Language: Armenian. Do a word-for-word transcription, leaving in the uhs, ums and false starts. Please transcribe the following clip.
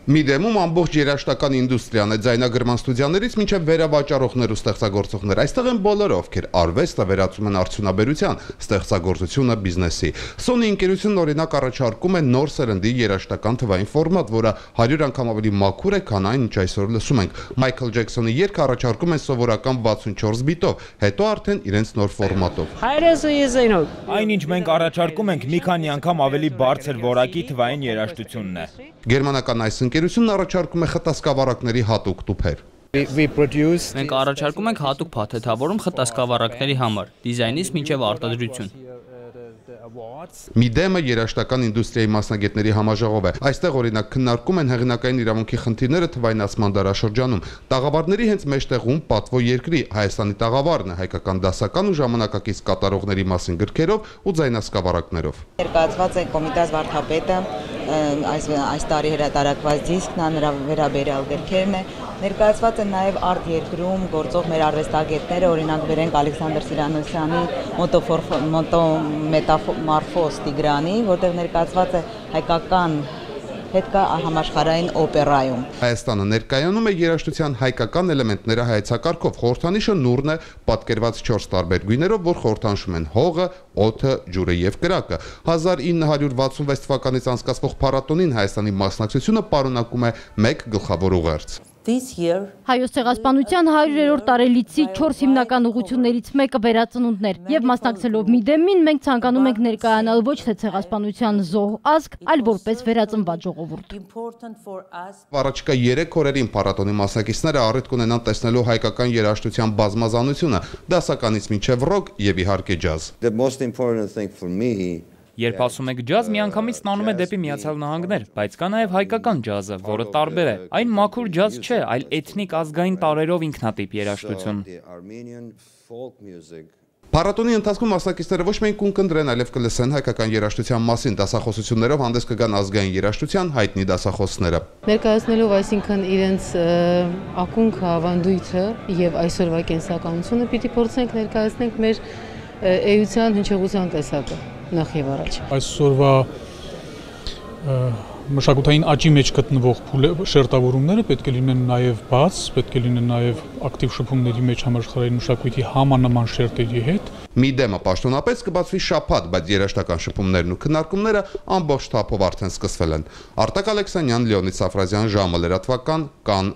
Միդեմում ամբողջ երաժշտական ինդուստրիան է ձայնագրման ստուդիաներից մինչև վերավաճառողներ ու ստեղծագործողներ։ Այստեղ են բոլորը, ովքեր արվեստը վերածում են արդյունաբերության, ստեղծագործությունը բիզնեսի։ Sony ընկերությունն օրինակ առաջարկում է նոր սերնդի երաժշտական թվային ֆորմատ, որը հարյուր անգամ ավելի մաքուր է, քան այն, ինչ այսօր լսում ենք։ Մայքլ Ջեքսոնի երգը առաջարկում են սովորական վաթսունչորս բիտով, հետո արդեն իրենց նոր ֆորմատով։ Այնինչ մենք առաջարկում ենք մի քանի անգամ ավելի բարձր որակի թվային երաժշտությունն է։ Գերմանական այս ընկերությունն առաջարկում է խտասկավառակների հատուկ տուփեր։ Մենք առաջարկում ենք հատուկ փաթեթավորում խտասկավառակների համար, դիզայնից մինչև արտադրություն։ Միդեմը երաժշտական ինդուստրիայի մասնագետների համաժողով է։ Այստեղ օրինակ քննարկում են հեղինակային իրավունքի խնդիրները թվայնացման դարաշրջանում։ Տաղավարների հենց մեջտեղում պատվո երկրի Հայաստանի տաղավարն է հայկական դասական ու ժամանակակից կատարողների մասին գրքերով ու ձայնասկավառակներով։ Ներկայացված է Կոմիտաս վարդապետը, այս այս տարի հրատարակված դիսկն է, նրա վերաբերյալ գրքերն է։ Ներկայացված են նաև արտ երկրում գործող մեր արվեստագետները, օրինակ վերենք Ալեքսանդր Սիրանոսյանի մետամորֆոզ Տիգրանի, որտեղ ներկայացված է հայկական հետք համաշխարհային օպերայում։ Հայաստանը ներկայանում է երաժշտության հայկական էլեմենտները հայեցակարգով։ Խորհրդանիշը նուրն է, պատկերված չորս տարբեր գույներով, որ խորհրդանշում են հողը, օդը, ջուրը եւ կրակը։ հազար ինը հարյուր վաթսունվեց թվականից անցկացվող փառատոնին Հայաստանի մասնակցությունը պարունակում է մեկ գլխավոր ուղերձ։ Հայոց ցեղասպանության հարյուրերորդ տարելիցի չորս հիմնական ուղղություններից մեկը վերածնունդն էր, եւ մասնակցելով Միդեմին մենք ցանկանում ենք ներկայանալ ոչ թե ցեղասպանության զոհ ազգ, այլ որպես վերածնված ժողովուրդ։ Առաջիկա երեք օրերին փառատոնի մասնակիցները առիթ կունենան տեսնելու հայկական երաժշտության բազմազանությունը, դասականից մինչև ռոք եւ իհարկե ջազ։ Երբ ասում եք ջազ, միանգամից ստանում է դեպի Միացյալ Նահանգներ, բայց կա նաև հայկական ջազը, որը տարբեր է։ Այն մաքուր ջազ չէ, այլ էթնիկ ազգային տարրերով ինքնատիպ երաժշտություն։ Փառատոնի ընթացքում մասնակիցները ոչ միայն կունկնդրեն, այլև կլսեն հայկական երաժշտության մասին, դասախոսություններով հանդես կգան ազգային երաժշտության հայտնի դասախոսները։ Ներկայացնելով այսինքն իրենց ակունք ավանդույթը եւ այսօրվա կենսականությունը պիտի փորձենք ներկայացնենք մեր էության հնչեղության տեսակը։ Նախ եւ առաջ այսօրվա մշակութային աճի մեջ գտնվող շերտավորումները պետք է լինեն նաև բաց, պետք է լինեն նաև ակտիվ շփումների մեջ համաշխարհային մշակույթի համանման շերտերի հետ։ Միդեմը պաշտոնապես կբացվի շաբաթ, բայց երաժշտական շփումներն ու քննարկումները ամբողջ թափով արդեն սկսվել են։ Արտակ Ալեքսանյան, Լեոնիդ Սաֆրազյան, ժամը լրատվական, Կանն